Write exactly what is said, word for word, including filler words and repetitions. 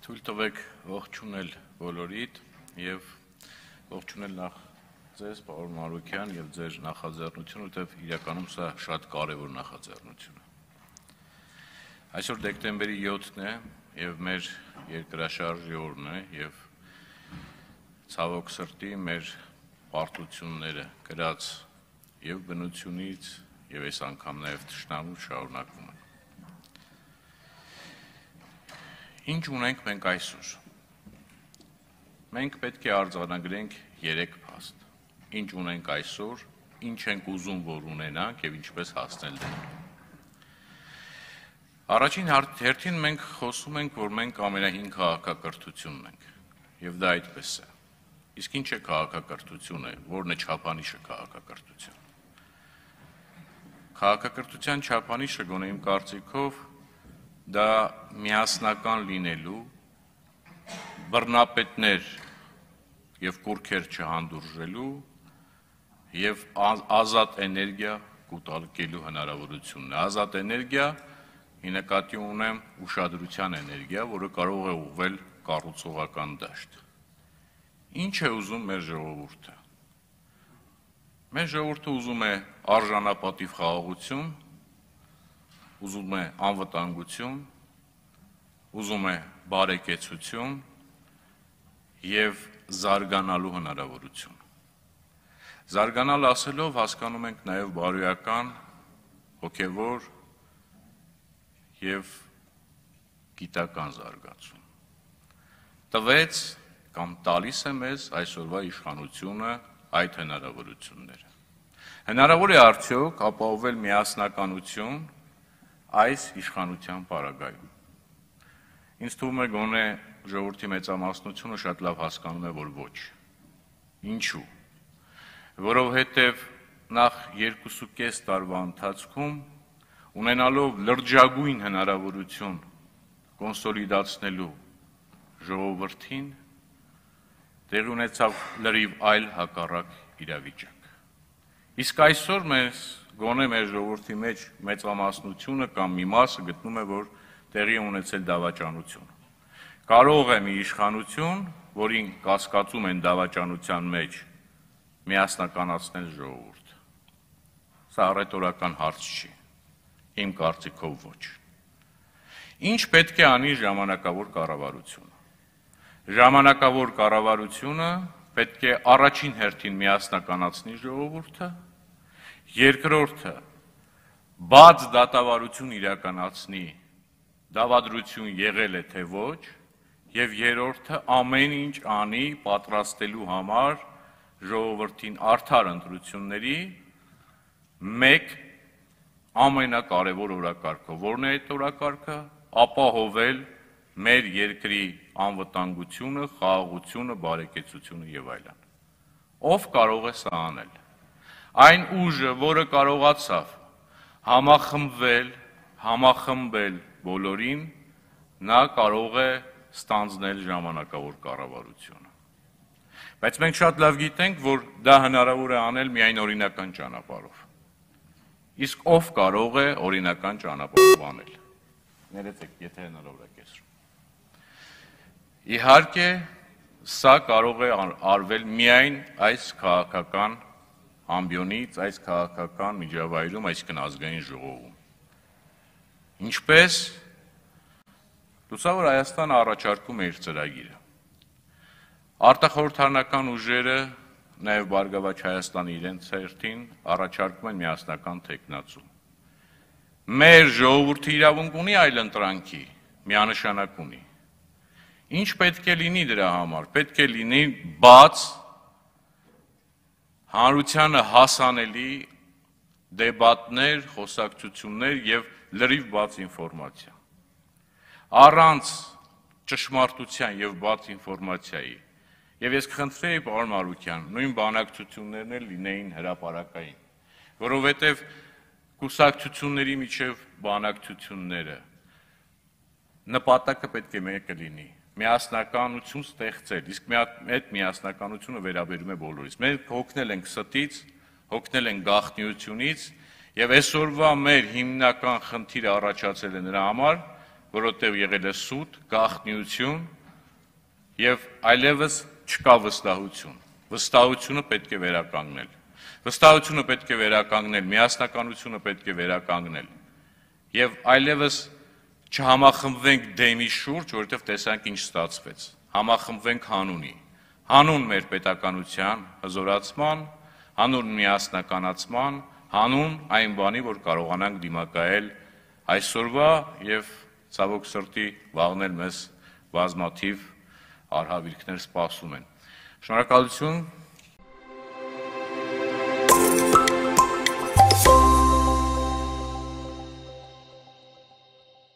Թույլ տվեք ողջունել բոլորիդ եւ ողջունել նախ ձեզ, պարոն Մարուկյան, եւ ձեր նախաձեռնությունը, որտեղ իրականում սա շատ կարեւոր նախաձեռնություն է։ Այսօր դեկտեմբերի յոթն է եւ մեր երկրաշարժի օրն է եւ ցավոք սրտի մեր պարտությունները գրած եւ բնությունից եւ այս անգամ նաեւ թշնամու շարունակվում են։ Ինչ ունենք մենք այսօր։ Մենք պետք է արձանագրենք երեք փաստ։ Ինչ ունենք այսօր, ինչ ենք ուզում, որ ունենանք եւ ինչպես հասնել դրան։ Առաջին հերթին մենք խոսում ենք, որ մենք ամենահին քաղաքակրթությունն ենք, եւ դա այդպես է։ Իսկ ինչ է քաղաքակրթությունը, որն է չափանիշը քաղաքակրթության։ Քաղաքակրթության չափանիշը գոնե իմ կարծիքով դա միասնական լինելու, բռնապետներ եւ կուռքեր չհանդուրժելու եւ ազատ էներգիա կուտակելու հնարավորությունն է։ Ազատ էներգիա ի նկատի ունեմ ուշադրության էներգիա, որը կարող է ուղղվել կառուցողական դաշտ։ Ինչ է ուզում մեր ժողովուրդը։ Մեր ժողովուրդը ուզում է արժանապատիվ խաղաղություն, ուզում է անվտանգություն, ուզում է բարեկեցություն եւ զարգանալու հնարավորություն։ Զարգանալ ասելով հասկանում ենք նաեւ բարոյական, հոգեվոր եւ գիտական զարգացում։ Տվեց կամ տալիս է մեզ այսօրվա իշխանությունը այդ հնարավորությունները։ Հնարավոր է արդյոք ապահովել միասնականություն այս իշխանության պարագայում։ Ինձ թվում է գոնե ժողովրդի մեծամասնությունը շատ լավ հասկանում է, որ ոչ։ Ինչու՞։ Որովհետև նախ երկուսուկես տարվա ընթացքում ունենալով լրջագույն հնարավորություն կոնսոլիդացնելու ժողովրդին տեղի ունեցավ լրիվ այլ հակառակ իրավիճակ։ Իսկ այսօր մեզ գոնե մեր ժողովրդի մեջ մեծամասնությունը կամ մի մասը գտնում է, որ տեղի ունեցել դավաճանություն։ Կարող է մի իշխանություն, որին կասկածում են դավաճանության մեջ, միասնականացնել ժողովուրդը։ Սա ռետորական հարց չի, իմ կարծիքով ոչ։ Ինչ պետք է անի ժամանակավոր կառավարությունը։ Ժամանակավոր կառավարությունը պետք է առաջին հերթին միասնականացնի ժողովուրդը, երկրորդը բաց դատավարություն իրականացնի, դավադրություն եղել է թե ոչ, եւ երրորդը ամեն ինչ անի պատրաստելու համար ժողովրդին արդար ընտրությունների մեկ ամենակարևոր օրակարգը, որն է այդ օրակարգը, ապահովել մեր երկրի անվտանգությունը, խաղաղությունը, բարեկեցությունը եւ այլն։ Ով կարող է սա անել։ Այն ուժը, որը կարողացավ համախմբվել, համախմբել բոլորին, նա կարող է ստանձնել ժամանակավոր կառավարությունը։ Բայց մենք շատ լավ գիտենք, որ դա հնարավոր է անել միայն օրինական ճանապարհով։ Իսկ ով կարող է օրինական ճանապարհով անել։ Ներեցեք, եթե հնարավոր է կեսրում։ Իհարկե, սա կարող է արվել միայն այս քաղաքական ամբիոնից, այս քաղաքական միջավայրում, այսինքն ազգային ժողովում։ Ինչպես լուսավոր Հայաստանը առաջարկում է իր ծրագիրը։ Արտախորհրդարանական ուժերը, նաև Բարգավաճ Հայաստանի իրենց հերթին առաջարկում են միասնական թեկնածու։ Մեր ժողովուրդը իրավունք ունի այլընտրանքի, միանշանակ ունի։ Ինչ պետք է լինի դրա համար։ Պետք է լինի բաց, հանրությանը հասանելի դեբատներ, խոսակցություններ եւ լրիվ բաց ինֆորմացիա։ Առանց ճշմարտության եւ բաց ինֆորմացիայի։ Եվ ես կխնդրեի, պարոն Մարուկյան, նույն բանակցություններն էլ լինեին հրապարակային, որովհետեւ կուսակցությունների միջև բանակցությունները նպատակը պետք է մեկը լինի։ Միասնականություն ստեղծել, իսկ այդ միասնականությունը վերաբերում է բոլորիս։ Մենք հոգնել ենք ստից, հոգնել ենք գաղտնիությունից եւ այսօրվա մեր հիմնական խնդիրը առաջացել է նրա համար, որովհետև եղել է սուտ, գաղտնիություն եւ այլևս չկա վստահություն։ Վստահությունը պետք է վերականգնել։ Վստահությունը պետք է վերականգնել, միասնականությունը պետք է վերականգնել։ Եվ այլևս չհամախմբվենք դեմի շուրջ, որովհետև տեսանք ինչ ստացվեց։ Համախմբվենք հանունի։ Հանուն մեր պետականության հզորացման, հանուն միասնականացման, հանուն այն բանի, որ կարողանանք դիմակայել այսօրվա եւ ցավոք սրտի վաղն էլ մեզ բազմաթիվ արհավիրքներ սպասում են։ Շնորհակալություն։